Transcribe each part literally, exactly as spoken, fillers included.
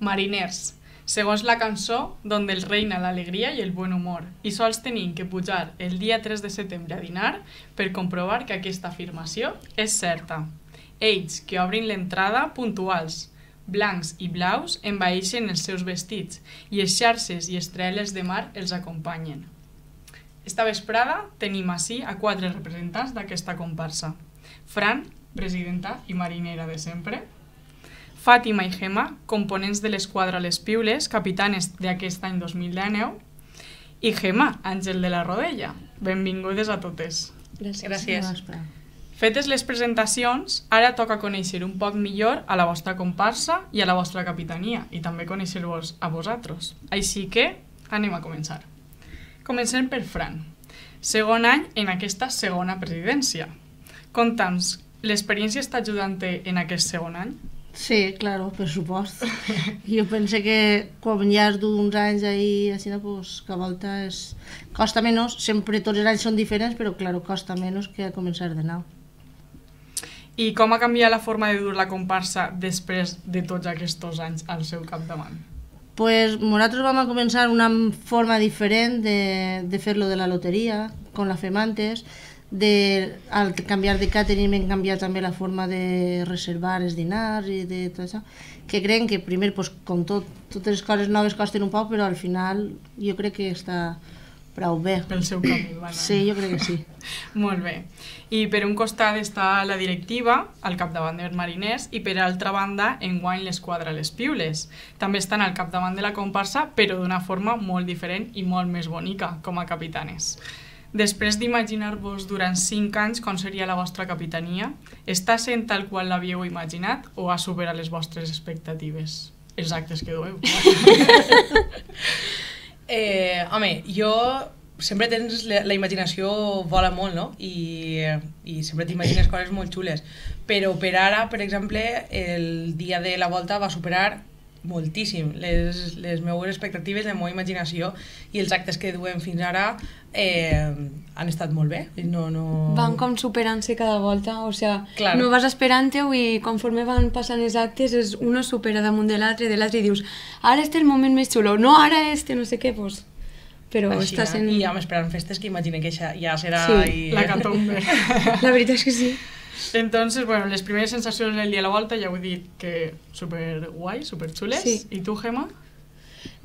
Mariners, segons la cançó, donde el reina la alegria i el buen humor, i sols tenim que pujar el dia tres de setembre a dinar per comprovar que aquesta afirmació és certa. Ells, que obrin l'entrada puntuals, blancs i blaus, envaeixen els seus vestits i les xarxes i estrelles de mar els acompanyen. Esta vesprada tenim ací a quatre representants d'aquesta comparsa. Fran, presidenta i marinera de sempre. Fàtima i Gemma, components de l'esquadra Les Piules, capitanes d'aquest any dos mil dinou. I Gemma, àngel de la Rodella. Benvingudes a totes. Gràcies. Fetes les presentacions, ara toca conèixer un poc millor a la vostra comparsa i a la vostra capitania, i també conèixer-vos a vosaltres. Així que anem a començar. Comencem per Fran. Segon any en aquesta segona presidència. Conta'ns, l'experiència està ajudant-te en aquest segon any? Sí, claro, per supost. Jo pense que quan ja has d'uns anys ahí, així, pues, que a volta és... costa menys, sempre tots els anys són diferents, però claro, costa menys que començar de nou. I com ha canviat la forma de dur la comparsa després de tots aquests anys al seu capdavant? Pues nosaltres vam a començar una forma diferent de, de fer-lo de la loteria, com la fem antes, de, al canviar de catering hem canviat també la forma de reservar els dinars i de tot això, que creiem que primer, pues, com tot, totes les coses noves costen un poc, però al final jo crec que està prou bé. Pel seu camí, va anar. Sí, jo crec que sí. Molt bé. I per un costat està la directiva, al capdavant dels mariners, i per altra banda, enguany l'esquadra Les Piules. També estan al capdavant de la comparsa, però d'una forma molt diferent i molt més bonica, com a capitanes. Després d'imaginar-vos durant cinc anys com seria la vostra capitania, està sent tal qual l'havíeu imaginat o ha superat les vostres expectatives? Els actes que dueu. Eh, home, jo sempre tens la, la imaginació vola molt, no? I, i sempre t'imagines coses molt xules, però per ara, per exemple, el dia de la volta va superar moltíssim les, les meves expectatives, la meva imaginació, i els actes que duem fins ara eh, han estat molt bé. No, no... Van com superant-se cada volta, o sea, claro. No vas esperant-ho i conforme van passant els actes és uno supera damunt de l'altre, de l'altre i dius ara este és el moment més xulo, no ara este no sé què, pues... però així, està sent... I ja m'esperant festes que imagine que ja, ja serà... Sí, i... la catombe. La veritat és que sí. Entonces, bueno, les primeres sensacions del dia de la volta ja ho he dit que super guai, super xules. Sí. I tu, Gemma?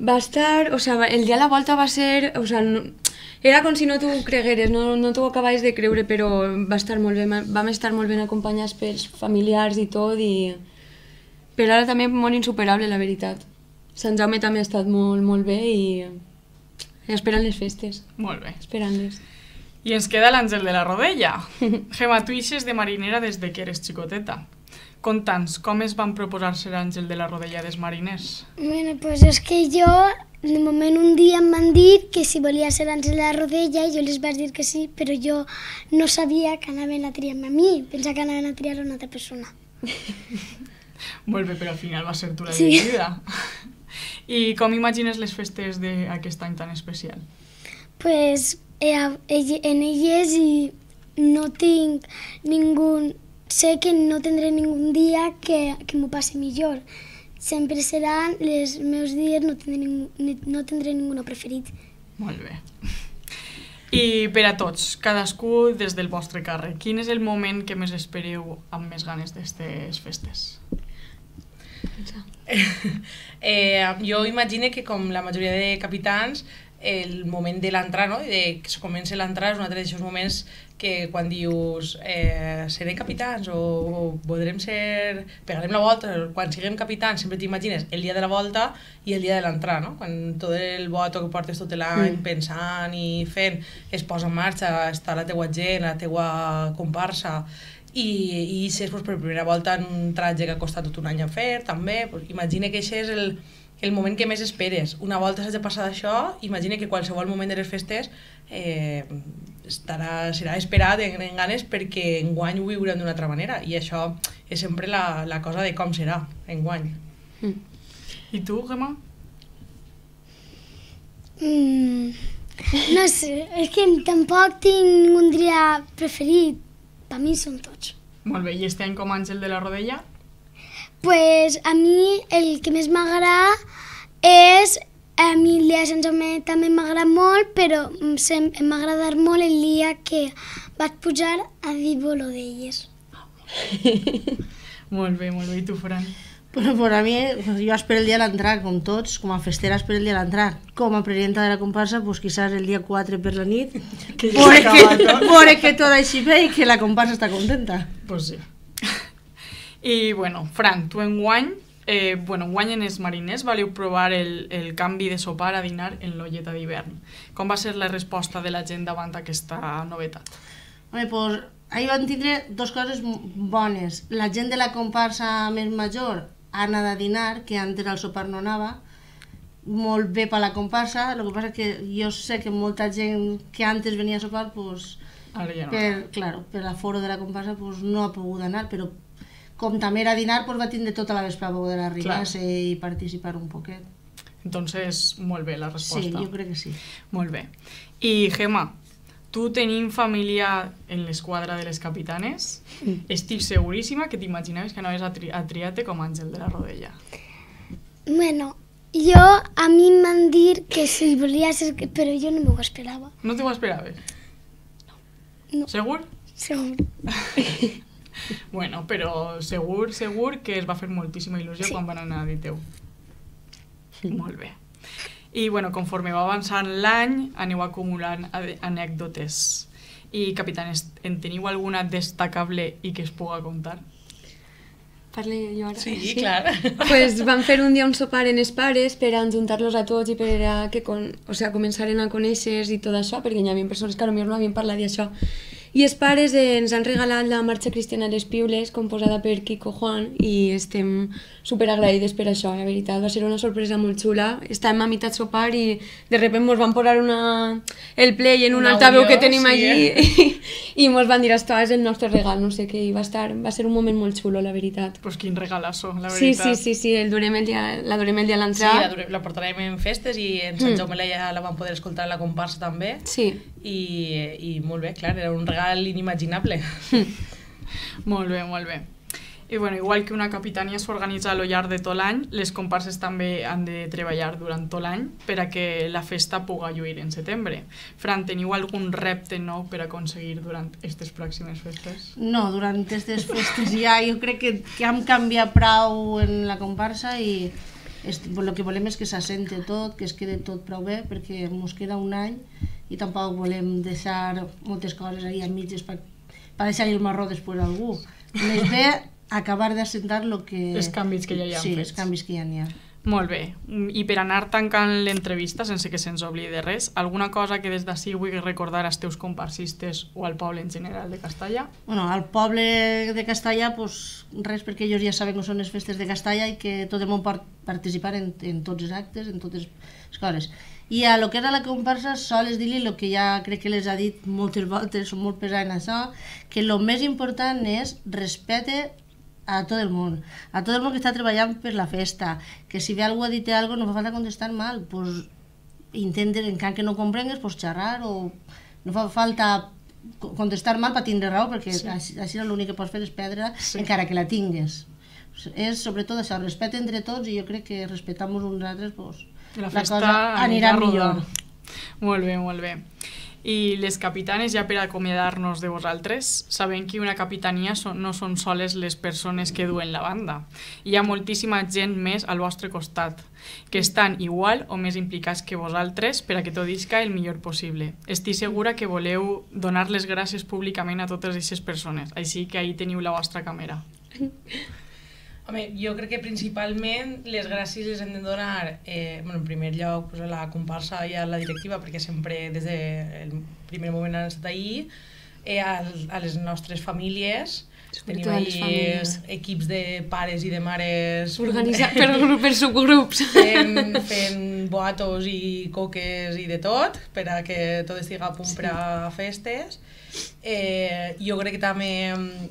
Va estar, o sea, el dia de la volta va ser, o sea, no, era com si no t'ho cregueres, no, no t'ho acabaves de creure, però va estar molt bé, vam estar molt ben acompanyats pels familiars i tot, i per ara també molt insuperable, la veritat. Sant Jaume també ha estat molt, molt bé i esperant les festes. Molt bé. Esperant-les. I ens queda l'Àngel de la Rodella. Gemma, tu ixes de marinera des de que eres xicoteta. Conta'ns, com es van proposar ser Àngel de la Rodella dels mariners? Bueno, pues és que jo, de moment un dia em van dir que si volia ser Àngel de la Rodella i jo les vaig dir que sí, però jo no sabia que anaven a triar-me a mi, pensava que anaven a triar a una altra persona. Molt bé, però al final va ser tu la Sí. dirigida. I com imagines les festes d'aquest any tan especial? Pues eh, en elles i no tinc ningú... Sé que no tindré ningú dia que, que m'ho passi millor. Sempre seran els meus dies, no tindré, ningú, no tindré ningú preferit. Molt bé. I per a tots, cadascú des del vostre càrrec, quin és el moment que més espereu amb més ganes d'aquestes festes? eh, jo imagino que com la majoria de capitans el moment de l'entrar, no? De que es comença l'entrar és un altre d'aquests moments que quan dius eh, serem capitans o, o podrem ser, pegarem la volta, quan siguem capitans sempre t'imagines el dia de la volta i el dia de l'entrar, no? Quan tot el voto que portes tot l'any mm. pensant i fent es posa en marxa, està la teua gent, la teua comparsa i, i ixes pues, per primera volta en un tratge que ha costat tot un any a fer també, pues, imagina que això és el el moment que més esperes. Una volta s'has de passar d'això, imagina que qualsevol moment de les festes eh, estarà, serà esperat en, en ganes perquè enguany ho viurem d'una altra manera i això és sempre la, la cosa de com serà enguany. Mm. I tu, Gemma? Mm, no sé, és que tampoc tinc un dia preferit. Per mi són tots. Molt bé, i este any com Àngel de la Rodella? pues a mi el que més m'agrada és, a mi el dia de Sant Jaume també m'agrada molt, però m'ha agradat molt el dia que vaig pujar a dir bolo d'elles. Molt bé, molt bé. I tu, Fran? Bueno, per a mi, jo espero el dia de l'entrar, com tots, com a festera espero el dia de l'entrar. Com a presidenta de la comparsa, pues quizás el dia quatre per la nit, veure que tot així bé i que la comparsa està contenta. Pues sí. I, bueno, Fran, tu enguany, eh, bueno, enguany en els mariners valiu provar el, el canvi de sopar a dinar en l'olleta d'hivern. Com va ser la resposta de la gent davant aquesta novetat? Home, pues, ahir van tindre dues coses bones. La gent de la comparsa més major ha anat a dinar, que antes al sopar no anava, molt bé per la comparsa. El que passa és que jo sé que molta gent que antes venia a sopar, pues, Ara ja no. per, claro, per l'aforo de la comparsa pues, no ha pogut anar, però com també era a dinar, pues, va tindre tota la vespre a poder arribar-se i participar un poquet. Entonces, molt bé la resposta. Sí, jo crec que sí. Molt bé. I, Gemma, tu tenim família en l'esquadra de les capitanes, mm. estic seguríssima que t'imaginaves que anaves a, tri a triar-te com Àngel de la Rodella. Bueno, jo, a mi m'han dit que si volia ser... però jo no m'ho esperava. No t'ho esperaves? No. Segur? Segur. Bueno, però segur, segur que es va fer moltíssima il·lusió sí. quan van anar a dir teu. Sí. Molt bé. I, bueno, conforme va avançant l'any, aneu acumulant anècdotes. I, capitanes, en teniu alguna destacable i que es puga contar? Parle jo ara? Sí, sí, clar. Pues vam fer un dia un sopar en els pares per a juntar-los a tots i per a que con, o sea, començaren a conèixer i tot això, perquè hi havia persones que potser no havien parlat d'això. I els pares ens han regalat la marxa cristiana a les piules, composada per Kiko Juan, i estem superagraïdes per això, la veritat. Va ser una sorpresa molt xula. Estàvem a meitat sopar i de sobte ens van posar una... el play en un una altaveu audio, que tenim sí, allí eh? i, i ens van dir, esto és el nostre regal, no sé què, i va, estar, va ser un moment molt xulo, la veritat. Pues quin regalazo, la veritat. Sí, sí, sí, sí, el durem el dia, la durem el dia a l'entrar. Sí, la, durem, la portarem en festes i en Sant Jaume mm. la, la vam poder escoltar a la comparsa també. Sí. I, i molt bé, clar, era un regal inimaginable. Molt bé, molt bé. I bueno, igual que una capitania s'organitza a lo llarg de tot l'any, les comparses també han de treballar durant tot l'any per a que la festa puga lluir en setembre. Fran, teniu algun repte nou per aconseguir durant aquestes pròximes festes? No, durant aquestes festes ja jo crec que, que hem canviat prou en la comparsa i el que volem és que s'assente tot, que es quede tot prou bé, perquè ens queda un any i tampoc volem deixar moltes coses ahí a mitges per, per deixar el marró després a algú. Més bé acabar d'assentar lo que... els canvis que ja hi ha sí, fets. els canvis que ja n'hi ha. Molt bé. I per anar tancant l'entrevista, sense que se'ns oblidi de res, alguna cosa que des d'ací vull recordar als teus comparsistes o al poble en general de Castalla? Bueno, al poble de Castalla, pues, res, perquè ells ja saben que són les festes de Castalla i que tot el món pot participar en, en tots els actes, en totes les coses. I a lo que era la comparsa, sols dir-li el que ja crec que les ha dit moltes voltes, són molt pesats en això, que el més important és respecte a tot el món, a tot el món que està treballant per la festa, que si ve algú a dir-te alguna cosa no fa falta contestar mal, pues intenten, encara que no comprengues, pues xerrar, o no fa falta contestar mal per tindre raó, perquè sí. així, així l'únic que pots fer és perdre, sí. encara que la tingues. És sobretot això, respecte entre tots, i jo crec que respectant-nos uns altres, pues, la, la cosa anirà millor. Molt bé, molt bé. I les capitanes, ja per acomiadar-nos de vosaltres, sabem que una capitania so, no són soles les persones que duen la banda. Hi ha moltíssima gent més al vostre costat, que estan igual o més implicats que vosaltres per a que tot isca el millor possible. Estic segura que voleu donar les gràcies públicament a totes aquestes persones, així que ahí teniu la vostra càmera. Home, jo crec que principalment les gràcies les hem de donar, eh, bueno, en primer lloc pues, a la comparsa i a la directiva, perquè sempre des del primer moment han estat ahí, eh, a, a les nostres famílies. Tenim ahí equips de pares i de mares organitzats per, per subgrups fent, fent boatos i coques i de tot per a que tot estigui a punt sí. per a festes. Eh, jo crec que també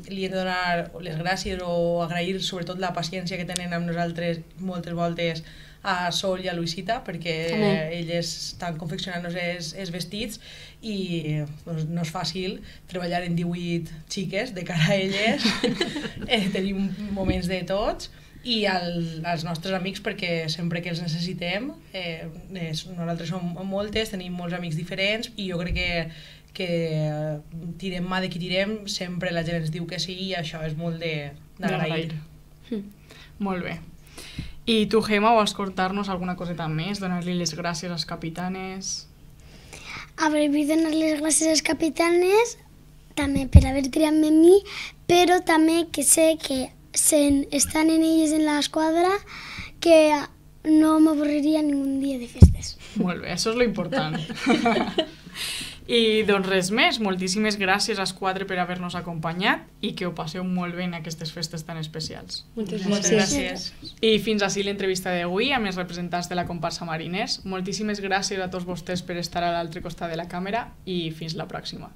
li hem de donar les gràcies o agrair sobretot la paciència que tenen amb nosaltres moltes voltes a Sol i a Luisita, perquè Amén. elles estan confeccionant-nos els, els vestits i doncs, no és fàcil treballar en divuit xiques de cara a elles. eh, tenim moments de tots i el, els nostres amics, perquè sempre que els necessitem, eh, és, nosaltres som moltes, tenim molts amics diferents i jo crec que, que tirem mà de qui tirem, sempre la gent ens diu que sí i això és molt d'agrair. Mm. Molt bé. I tu, Gemma, vols contar-nos alguna coseta més? Donar-li les gràcies als capitanes? A veure, vull donar les gràcies als capitanes també per haver triat-me a mi, però també que sé que sen, estan en elles en l'esquadra que no m'avorriria ningú dia de festes. Molt bé, això és lo important. I doncs res més, moltíssimes gràcies als quatre per haver-nos acompanyat i que ho passeu molt bé en aquestes festes tan especials. Moltes Moltes gràcies. gràcies. I fins així l'entrevista d'avui amb els representants de la comparsa Mariners. Moltíssimes gràcies a tots vostès per estar a l'altre costat de la càmera i fins la pròxima.